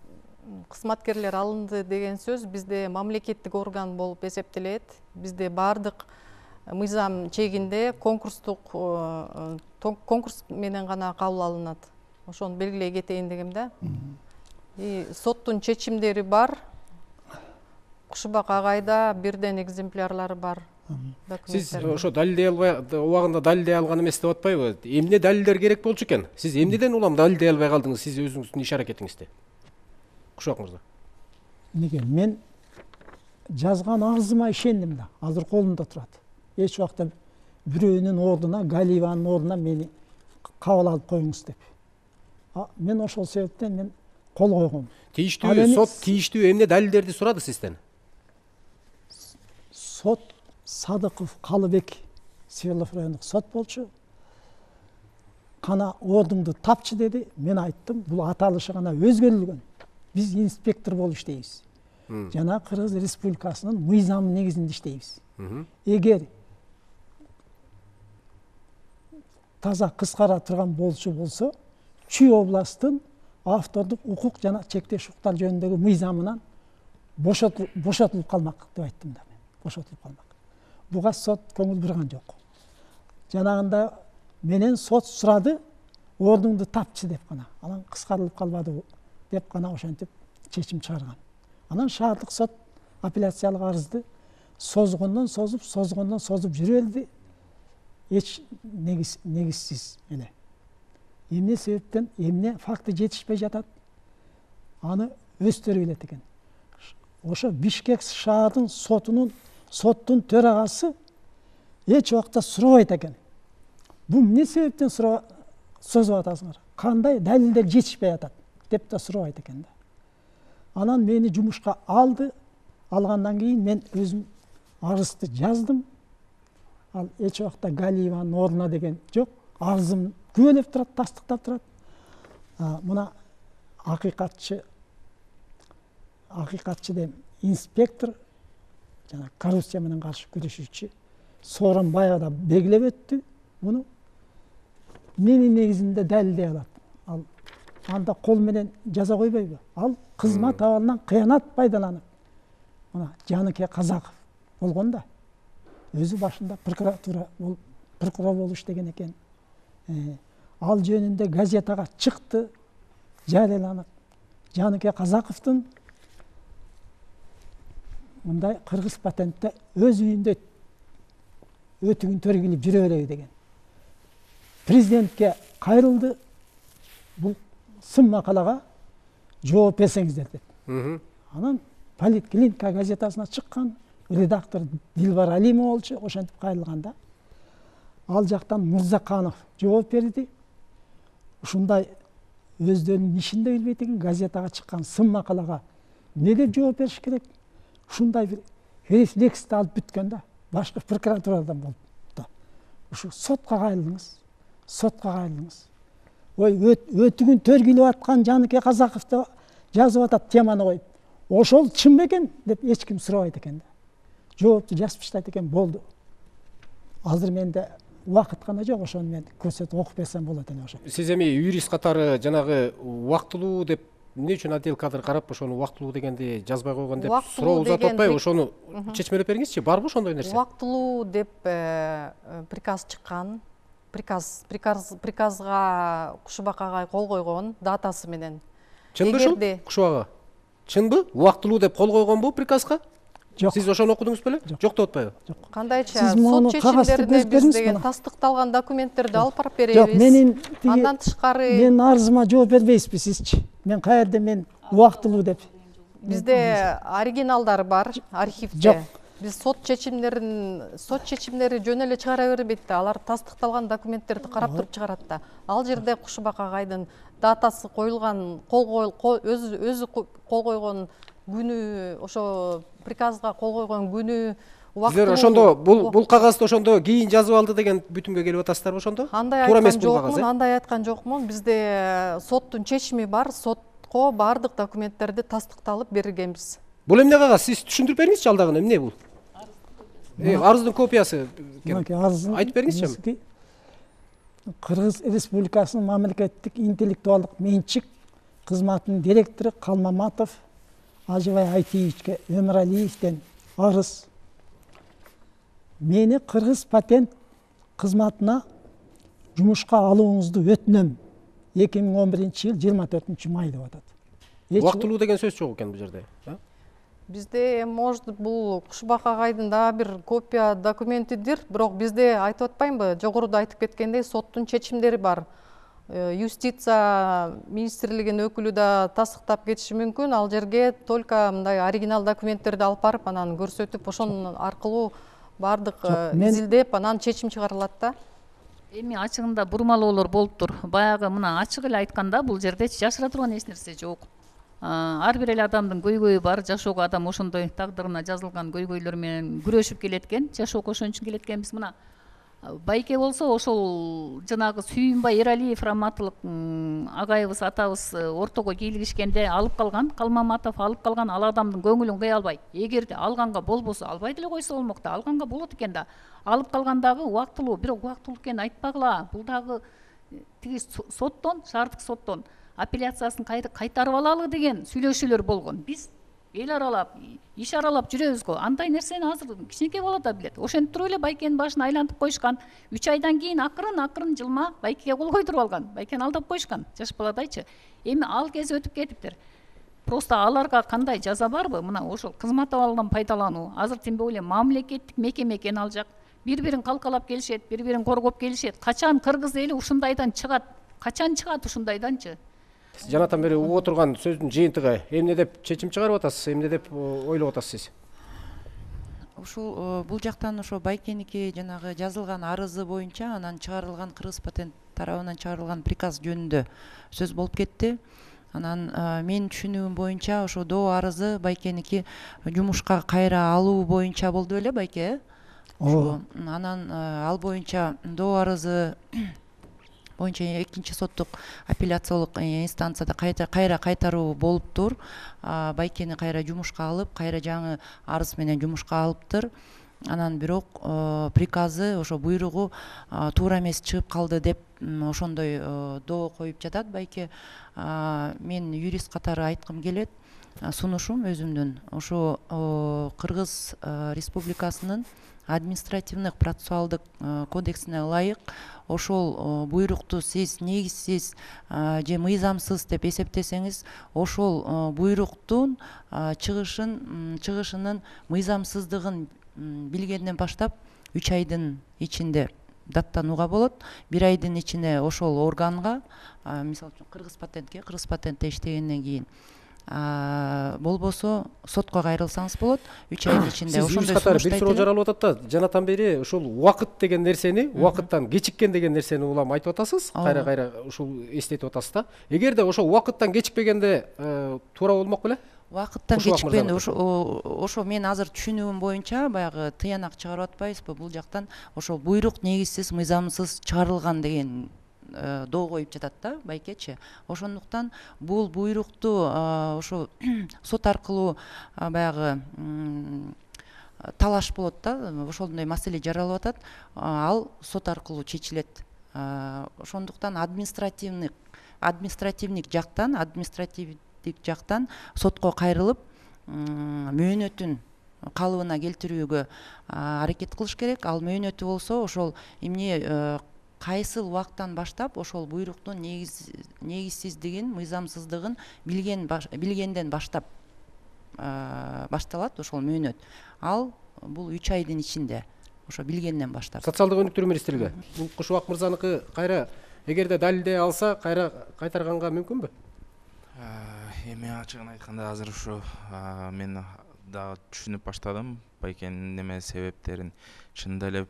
кызматкерлер алынды деген сөз бизде мамлекеттик орган болуп эсептелет. Бизде бардык мыйзам чегинде конкурстук конкурс менен гана кабыл алынат. Ошону белгилей кетейин дегем да. И соттун чечимдери бар. Кушбак агайда бирден экземплярлары бар. Сиз ошо далилдей албай, убагында далилдей алган эмес деп атпайбы? Эмне далилдер керек болчу экен? Сиз эмнеден улам далилдей албай калдыңыз сиз өзүңүздүн иш аракетиңизде? Кушбак мырза. Неге мен жазган арызыма ишендим да. Азыр колумда турат. Эч убакта бирөөнүн ордуна, Галиеванын ордуна мени кабыл алып коюңуз деп. Мен ошол себептен мен кол койгом. Тийиштүү сот тийиштүү эмне далилдерди сурады сизден? Сот Садыков Калыбек Свердлов райондук сот болчу. Кана ордуңду тапчы деди. Мен айттым, бул аталышы гана өзгөрүлгөн. Биз инспектор болуп иштейбиз. Жана Кыргыз Республикасынын мыйзамы негизинде иштейбиз. Эгер таза кыскара турган болчу болсо, Чүй областтын автордук укук жана чектеш укуктар жөнүндөгү мыйзамынан бошотулуп калмак деп айттым да мен. Бошотулуп калмак. Буга сот көңүл бурган жок. Жанагында менен сот сурады, ордуңду тапчы деп гана. Анан кыскарылып калбады деп гана ошентип чечим чыгарган. Анан шаардык сот апелляциялык арызды созгондон созуп, созгондон созуп жүрө берди. Эч негиз негизсиз эле. Эмне себептен, эмне факты жетишпей жатат, аны өздөрү билет экен. Ошо Бишкек шаардын сотунун соттун төрагасы эч убакта сурабайт экен. Бул эмне себептен созуп атасыңар? Кандай далилдер жетишпей атат деп да сурабайт экен да. Анан мени жумушка алды. Алгандан кийин мен өзүм арызды жаздым. Ал эч убакта Галиеванын ордуна деген жок. Арызым күбөлөп турат, тастыктап турат. Мына акыйкатчы акыйкатчы деп инспектор жана коррупция менен каршы күрөшүүчү Сооронбай баягыда белгилеп өттү. Муну менин негизинде далилдей алат. Ал анда кол менен жаза койбойбу? Ал кызмат абалынан кыянат пайдаланып. Мына Жаныке Казаков болгон да. Өзү башында прокуратура болуп, прокурор болуп иштеген экен. Ал жөнүндө газетага чыкты, жарыяланып. Жаныке Казаковдун мындай кыргыз патентте өз үйүндө өтүгүн төргүлүп жүрө береби деген. Президентке кайрылды. Бул сын макалага жооп берсеңиздер деп. Анан Политклиника газетасына чыккан, редактор Дилбар Алимова болчу, ошентип кайрылганда. Ал жактан Мырзаканов жооп берди. Ушундай өздөрүнүн ишинде билбейт экен, газетага чыккан сын макалага эмне деп жооп бериш керек? Ушундай бир рефлексти алып бүткөн да, башкы прокуратурадан болуп да. Ушу сотко кайрылыңыз, сотко кайрылыңыз. Ой, өтүгүн төргүлүп аткан Жаныке Казаковду жазып атат теманы коюп. Ошол чын бекен деп эч ким сурабайт экен да. Жоопту жазып таштайт экен, болду. Азыр менде убакыт гана жок, ошону мен көрсөтүп окуп берсем болот эле ошо. Сиз эми юрист катары жанагы убактылуу деп эмне үчүн отдел кадр карап ошону убактылуу дегенди жазбай койгон деп суроо узатып атпайбы? Ошону чечмелеп бериңизчи, барбы ошондой нерсе? Убактылуу деп приказ чыккан. приказ приказ приказга Кушубак агай кол койгон датасы менен. Чынбы ушул Кушубак ага? Чынбы? Убактылуу деп кол койгонбу приказга? Жок. Сиз ошону окудуңуз беле? Жок деп атпайбы? Жок. Кандайча сот чечимдерине биз деген тастыкталган документтерди алып барып беребиз. Жок, менин андан тышкары мен арызыма жооп бербейсизби сизчи? Мен каерде мен убактылуу деп. Бизде оригиналдар бар архивде. Жок. Биз сот чечимдерин сот чечимдери жөн эле чыгара бербейт да. Алар тастыкталган документтерди карап туруп чыгарат да. Ал жерде Кушубак агайдын датасы коюлган, кол өзү өзү кол койгон күнү, ошо приказга кол койгон күнү, убактылуу. Сиздер ошондо бул бул кагазды ошондо кийин жазып алды деген бүтүмгө келип атасыздарбы ошондо? Андай айткан жокмун, андай айткан жокмун. Бизде соттун чечими бар, сотко баардык документтерди тастыкталып берилгенбиз. Бул эмне кагаз? Сиз түшүндүрүп бериңизчи ал дагы эмне бул? Э, арыздын копиясы. Айтып бериңизчи. Кыргыз Республикасынын мамлекеттик интеллектуалдык менчик кызматынын директору Калмаматов Ажыбай Айтиевичке Өмүралиевден арыз. Мени Кыргыз патент кызматына жумушка алууңузду өтүнөм. эки миң он биринчи жыл жыйырма төртүнчү май деп атат. Убактылуу деген сөз жок экен бул жерде. Бизде может бул Кушубак агайдын дагы бир копия документидир, бирок бизде айтып атпаймынбы, жогоруда айтып кеткендей соттун чечимдери бар. Юстиция министрлигинин өкүлү да тастыктап кетиши мүмкүн. Ал жерге только мындай оригинал документтерди алып барып, анан көрсөтүп, ошонун аркылуу бардык изилдеп, анан чечим чыгарылат да. Эми ачыгында бурмалоолор болуптур. Баягы мына ачык эле айтканда бул жерде жашыра турган эч нерсе жок. Ар бир эле адамдын көйгөйү бар. Жашоого адам ошондой тагдырына жазылган көйгөйлөр менен күрөшүп келет экен. Жашоого ошон үчүн келет экенбиз. Мына Байке болсо ошол жанагы Сүйүнбай Эралиев раматылык агайыбыз атабыз ортого кийлигишкенде алып калган, Калмаматов алып калган, ал адамдын көңүлүн кыя албайт. Эгерде алганга болбосо албай деле койсо болмок да, алганга болот экен да. Алып калгандагы убактылуу, бирок убактылуу экенин айтпагыла. Бул дагы тиги соттон, шаардык соттон апелляциясын кайтарып алалы деген сүйлөшүүлөр болгон. Биз эл аралап, иш аралап жүрөбүз го. Андай нерсени азыр кичинекей бала да билет. Ошентип туруп эле Байкенин башын айлантып койушкан. үч айдан кийин акырын-акырын жылма Байкеге кол койдуруп алган. Байкени алдап коюшкан. Жаш баладайчы. Эми ал кез өтүп кетиптир. Просто аларга кандай жаза барбы? Мына ошол кызмат абалынан пайдалануу. Азыр тимбей эле мамлекеттик мекеме экен ал жак. Бири-бирин калкалап келишет, бири-бирин коргоп келишет. Качан кыргыз эли ушундайдан чыгат? Качан чыгат ушундайданчы? Жанатан бери угуп отурган сөздүн жыйынтыгы эмне деп чечим чыгарып атасыз, эмне деп ойлоп атасыз сиз? Ушул бул жактан ошо Байкеники жанагы жазылган арызы боюнча анан чыгарылган Кыргыз патент тарабынан чыгарылган приказ жөнүндө сөз болуп кетти. Анан менин түшүнүгүм боюнча ошо доо арызы Байкеники жумушка кайра алуу боюнча болду беле Байке? Ошо анан ал боюнча доо арызы боюнча экинчи соттук апелляциялык инстанцияда кайра кайтаруу болуптур. Байкени кайра жумушка алып, кайра жаңы арыз менен жумушка алыптыр. Анан бирок приказы, ошо буйругу туура эмес чыгып калды деп ошондой доо коюп жатат Байке. Мен юрист катары айткым келет. Сунушум өзүмдүн ошо Кыргыз Республикасынын административдик процессуалдык кодексине ылайык ошол буйрукту сиз негизсиз же мыйзамсыз деп эсептесеңиз, ошол буйруктун чыгышын чыгышынын мыйзамсыздыгын билгенден баштап үч айдын ичинде даттанууга болот. Бир айдын ичинде ошол органга, мисалы үчүн Кыргыз патентке, Кыргыз патентте иштегенден кийин болбосо сотко кайрылсаңыз болот. үч айдын ичинде ошондой сунуштар бир суроо жаралып атат да. Жанатан бери ушул убакыт деген нерсени, убакыттан кечиккен деген нерсени улам айтып атасыз. Кайра-кайра ушул эстетип атасыз да. Эгерде ошо убакыттан кечикпегенде туура болмок беле? Убакыттан кечикпен ошо мен азыр түшүнүгүм боюнча баягы тыянак чыгарып атпайбызбы бул жактан, ошо буйрук негизсиз, мыйзамсыз чыгарылган деген доо коюп жатат да Байкечи. Ошондуктан бул буйрукту ошо сот аркылуу баягы талаш болот да, ошондой маселе жаралып атат. Ал сот аркылуу чечилет. Ошондуктан административдик административдик жактан, административдик жактан сотко кайрылып, мөөнөтүн калыбына келтирүүгө аракет кылыш керек. Ал мөөнөтү болсо ошол эмне кайсыл убакыттан баштап ошол буйруктун негиз негизсиздигин, мыйзамсыздыгын билген билгенден баштап башталат ошол мөөнөт. Ал бул үч айдын ичинде, ошо билгенден баштап. Социалдык өнүктүрүү министрлиги бул Кушубак мырзаныкы кайра эгерде далилдей алса кайра кайтарганга мүмкүнбү? Эми ачыгын айтканда азыр ушу мен дагы түшүнүп баштадым байкенин неме себептерин. Чынында эле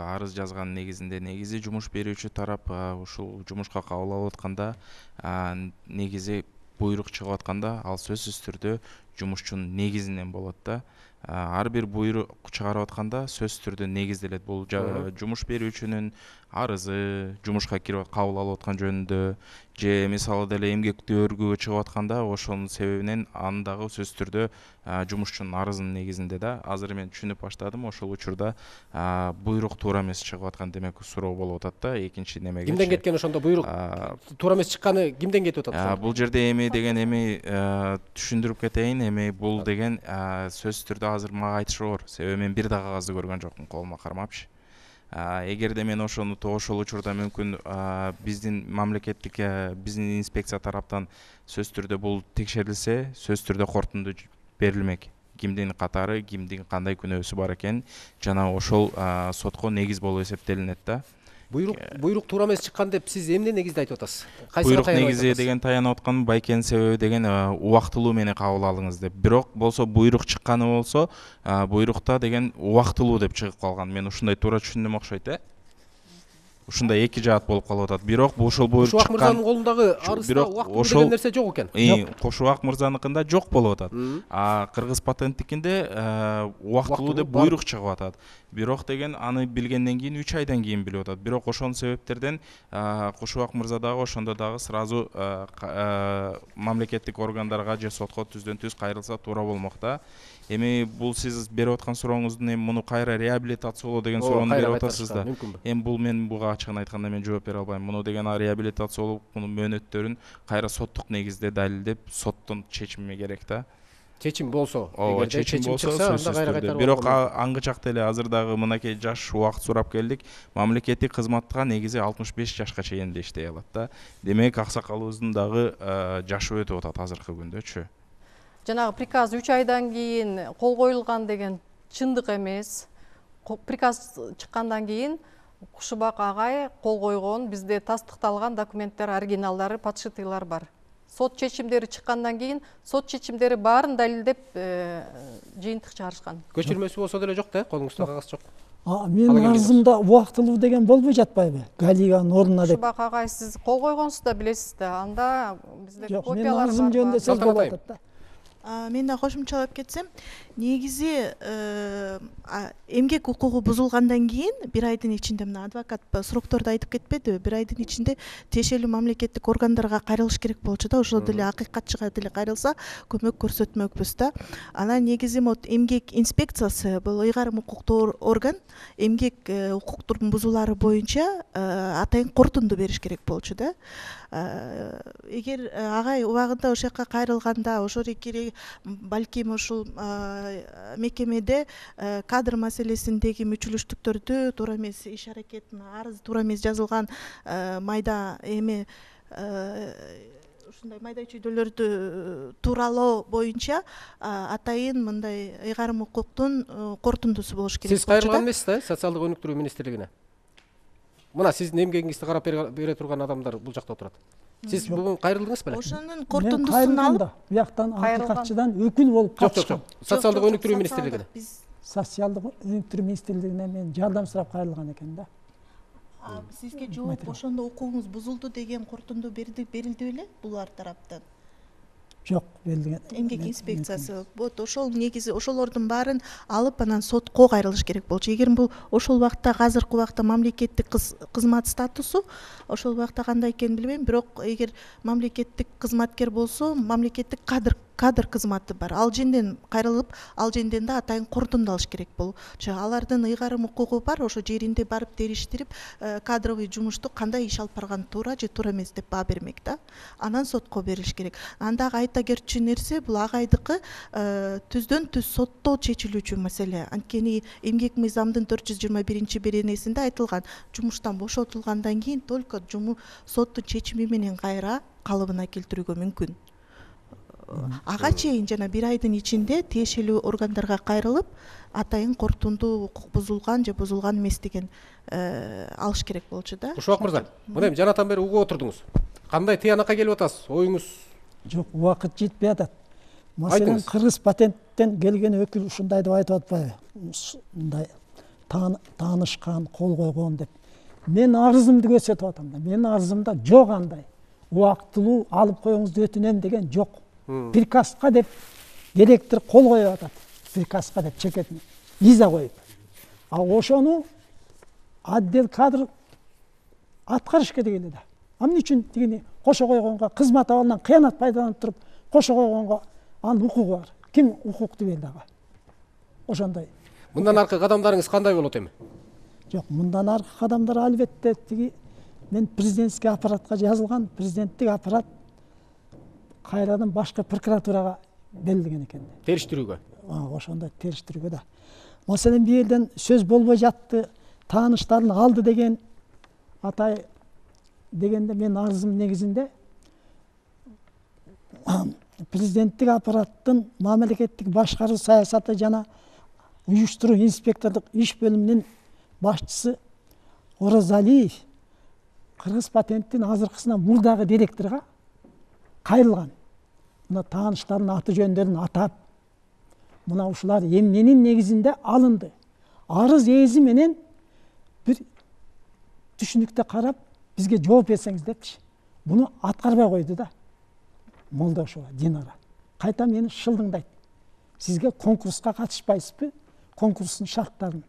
арыз жазган негизинде негизи жумуш берүүчү тарап ушул жумушка кабыл алып атканда негизи буйрук чыгып атканда ал сөзсүз түрдө жумушчунун негизинен болот да. Ар бир буйрук чыгарып атканда сөзсүз түрдө негизделет. Бул жумуш берүүчүнүн арызы, жумушка кирип кабыл алып аткан жөнүндө же мисалы деле эмгектүү өргүүгө чыгып атканда ошонун себебинен аны дагы сөзсүз түрдө жумушчунун арызынын негизинде да. Азыр мен түшүнүп баштадым, ошол учурда буйрук туура эмес чыгып аткан демек суроо болуп атат да. Экинчи немеге кимден кеткен ошондо буйрук туура эмес чыкканы кимден кетип атат? Бул жерде эми деген эми түшүндүрүп кетейин, эми бул деген сөзсүз түрдө азыр мага айтышы оор. Себеби мен бир да кагазды көргөн жокмун, колума кармапчы. Эгерде мен ошону ошол учурда мүмкүн биздин мамлекеттик биздин инспекция тараптан сөзсүз түрдө бул текшерилсе, сөзсүз түрдө корутунду берилмек. Кимдин катары, кимдин кандай күнөөсү бар экени жана ошол сотко негиз болуп эсептелинет да. Буйрук буйрук туура эмес чыккан деп сиз эмне негизде айтып атасыз? Буйрук негизи деген таянып аткан байкенин себеби деген убактылуу менен кабыл алыңыз деп. Бирок болсо буйрук чыкканы болсо, буйрукта деген убактылуу деп чыгып калган. Мен ушундай туура түшүндүм окшойт э. Ушундай эки жаат болуп калып атат. Бирок бул ошол буйрук чыккан. Кушубак мырзанын колундагы арызда убактылуу деген нерсе жок экен. Кушубак мырзаныкында жок болуп атат. А Кыргыз патенттикинде убактылуу деп буйрук чыгып атат. Бирок деген аны билгенден кийин үч айдан кийин билип атат. Бирок ошонун себептерден Кушубак мырза дагы ошондо дагы сразу мамлекеттик органдарга же сотко түздөн түз кайрылса туура болмок да. Эми бул сиз берип аткан сурооңуздун эми муну кайра реабилитациялоо деген суроону берип атасыз да. Эми бул мен буга ачыгын айтканда мен жооп бере албайм. Муну деген реабилитациялоо мунун мөөнөттөрүн кайра соттук негизде далилдеп, соттун чечими керек да. Чечим болсо, эгерде чечим чыкса, анда кайра кайтарып. Бирок аңгычакта эле азырдагы мынакей жаш убакыт сурап келдик. Мамлекеттик кызматка негизи алтымыш беш жашка чейин да иштей алат да. Демек аксакалыбыздын дагы жашы өтүп атат азыркы күндөчү. Жанагы приказ үч айдан кийин кол коюлган деген чындык эмес. Приказ чыккандан кийин Кушубак агай кол койгон, бизде тастыкталган документтер, оригиналдары, подшитыйлар бар. Сот чечимдери чыккандан кийин сот чечимдери баарын далилдеп жыйынтык чыгарышкан. Көчүрмөсү болсо деле жок да, колуңузда кагаз жок. Менин арызымда убактылуу деген болбой жатпайбы? Галиганын ордуна деп. Кушубак агай, сиз кол койгонсуз да билесиз да. Анда бизде копиялар бар. Менин арызым жөнүндө сөз болуп атат да. Мен да кошумчалап кетсем, негизи эмгек укугу бузулгандан кийин бир айдын ичинде, мына адвокат срокторду айтып кетпедиби, бир айдын ичинде тиешелүү мамлекеттик органдарга кайрылыш керек болчу да, ошол деле акыйкатчыга деле кайрылса көмөк көрсөтмөкпүз да. Анан негизи вот эмгек инспекциясы бул ыйгарым укуктуу орган, эмгек укуктун бузуулары боюнча атайын корутунду бериш керек болчу да. Эгер агай убагында ошол жака кайрылганда, ошол кереги балким ушул мекемеде кадр маселесиндеги мүчүлүштүктөрдү туура эмес иш аракетин, арыз туура эмес жазылган майда эми ушундай майда чүйдөлөрдү тууралоо боюнча атайын мындай ыйгарым укуктун корутундусу болуш керек. Сиз кайрылган эмессиз да социалдык өнүктүрүү министрлигине? Мына сиздин эмгегиңизди карап бере турган адамдар бул жакта отурат. Сиз бүгүн кайрылдыңыз беле? Ошонун корутундусун алып, бияктан акыйкатчыдан өкүл болуп калышкан. Жок, жок, социалдык өнүктүрүү министрлигине. Социалдык өнүктүрүү министрлигине мен жардам сурап кайрылган экен да. Сизге жооп ошондо укугуңуз бузулду деген корутунду берилди беле булар тараптан? Жок, берилген. Эмгек инспекциясы. Вот ошол негизи ошолордун баарын алып анан сотко кайрылыш керек болчу. Эгер бул ошол убакта, азыркы убакта мамлекеттик кызмат статусу ошол убакта кандай экенин билбейм, бирок эгер мамлекеттик кызматкер болсо, мамлекеттик кадр кадр кызматы бар. Ал жерден кайрылып, ал жерден да атайын корутунду алыш керек болчу. Алардын ыйгарым укугу бар, ошо жеринде барып териштирип, кадровый жумушту кандай иш алып барган туура же туура эмес деп баа бермек да. Анан сотко берилиш керек. Андагы айта кетчү нерсе бул агайдыкы түздөн түз сотто чечилүүчү маселе. Анткени эмгек мыйзамдын төрт жүз жыйырма биринчи беренесинде айтылган, жумуштан бошотулгандан кийин только жумуш соттун чечими менен кайра калыбына келтирүүгө мүмкүн. Ага чейин жана бир айдын ичинде тиешелүү органдарга кайрылып, атайын корутунду укук бузулган же бузулган эмес деген алыш керек болчу да. Ушубак мырза, мына эми жанатан бери угуп отурдуңуз. Кандай тыянакка келип атасыз? Оюңуз? Жок, убакыт жетпей атат. Маселен, кыргыз патенттен келген өкүл ушундай деп айтып атпайбы? Мындай таанышкан, кол койгон деп. Мен арызымды көрсөтүп атам да. Менин арызымда жок андай. Убактылуу алып коюңузду өтүнөм деген жок. Приказга деп директор кол коюп атат. Приказга деп чекетине виза коюп. А ошону отдел кадр аткарыш керек эле да. Эмне үчүн тигини кошо койгонго, кызмат абалынан кыянат пайдаланып туруп, кошо койгонго анын укугу бар. Ким укукту берди ага? Ошондой. Мындан аркы кадамдарыңыз кандай болот эми? Жок, мындан аркы кадамдар албетте тиги мен президентский аппаратка жазылган, президенттик аппарат кайрадан башкы прокуратурага берилген экен. Териштирүүгө. Ошондой териштирүүгө да. Маселен, бир жерден сөз болбой жатты, тааныштарын алды деген атай дегенде мен арызым негизинде президенттик аппараттын мамлекеттик башкаруу саясаты жана уюштуруу инспектордук иш бөлүмүнүн башчысы Оразалиев кыргыз патенттин азыркысынан мурдагы директорго кайрылган. Мына тааныштардын аты жөндөрүн атап, мына ушулар эмненин негизинде алынды. Арыз ээзи менен бир түшүнүктө карап, бизге жооп берсеңиз депчи. Буну аткарбай койду да. Молдошова Динара. Кайта мени шылдыңдайт. Сизге конкурска катышпайсызбы? Конкурстун шарттарын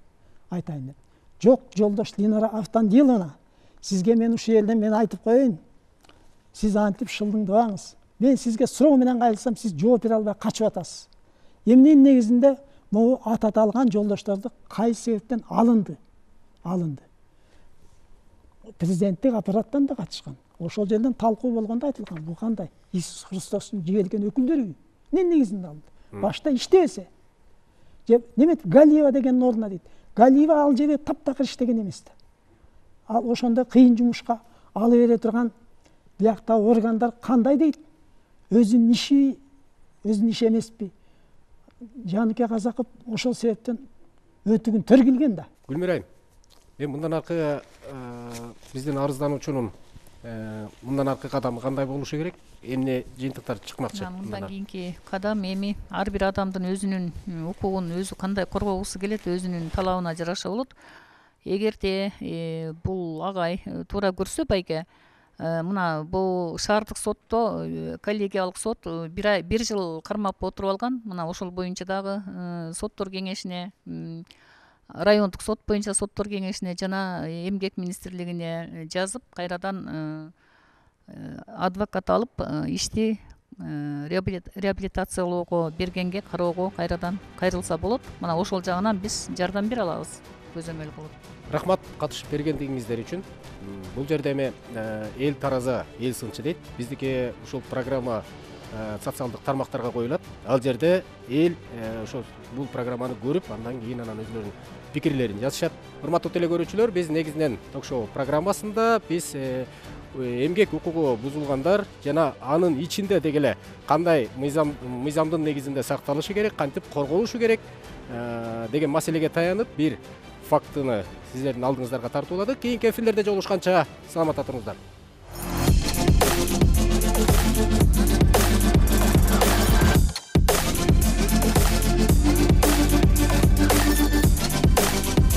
айтайын деп. Жок, жолдош Динара Автандиловна, сизге мен ушул жерден мен айтып коеюн. Сиз антип шылдыңдабаңыз. Мен сизге суроо менен кайрылсам, сиз жооп бере албай качып атасыз. Эмненин негизинде могу ататалган жолдошторду кайсы себептен алынды? Алынды. Президенттик аппараттан да катышкан. Ошол жерден талкуу болгондо айтылган. Бул кандай? Иисус Христостун жиберген өкүлдөрү. Эмне негизинде алынды? Башта иштебесе. Же неме Галиева деген ордуна дейт. Галиева ал жерде таптакыр иштеген эмес да. Ал ошондой кыйын жумушка ала бере турган биякта органдар кандай дейт? Өзүнүн иши, өзүнүн иши эмеспи? Жаныке Казаков ошол себептен өтүгүн тергилген да. Гүлмира айым, мен мындан аркы биздин арыздануучунун мындан аркы кадамы кандай болушу керек? Эмне жыйынтыктар чыкмакчы? Мындан кийинки кадам эми ар бир адамдын өзүнүн укугун өзү кандай коргогусу келет, өзүнүн талабына жараша болот. Эгерде бул агай туура көрсө байке, мына бул шаардык сотто, коллегиялык сот бир ай бир жыл кармап отуруп алган. Мына ошол боюнча дагы соттор кеңешине, райондук сот боюнча соттор кеңешине жана эмгек министрлигине жазып, кайрадан адвокат алып ишти реабилитациялоого бергенге кароого кайрадан кайрылса болот. Мына ошол жагынан биз жардам бере алабыз, көзөмөл кылып. Рахмат катышып бергендигиңиздер үчүн. Бул жерде эми эл тараза, эл сынчы дейт. Биздики ушул программа социалдык тармактарга коюлат. Ал жерде эл ошо бул программаны көрүп, андан кийин анан өзүлөрүнүн пикирлерин жазышат. Урматтуу телекөрүүчүлөр, биз негизинен ток-шоу программасында биз эмгек укугу бузулгандар жана анын ичинде дегеле кандай мыйзам мыйзамдын негизинде сакталышы керек, кантип корголушу керек деген маселеге таянып бир фактыны сиздердин алдыңыздарга тартууладык. Кийинки эфирлерде жолугушканча саламатта туруңуздар.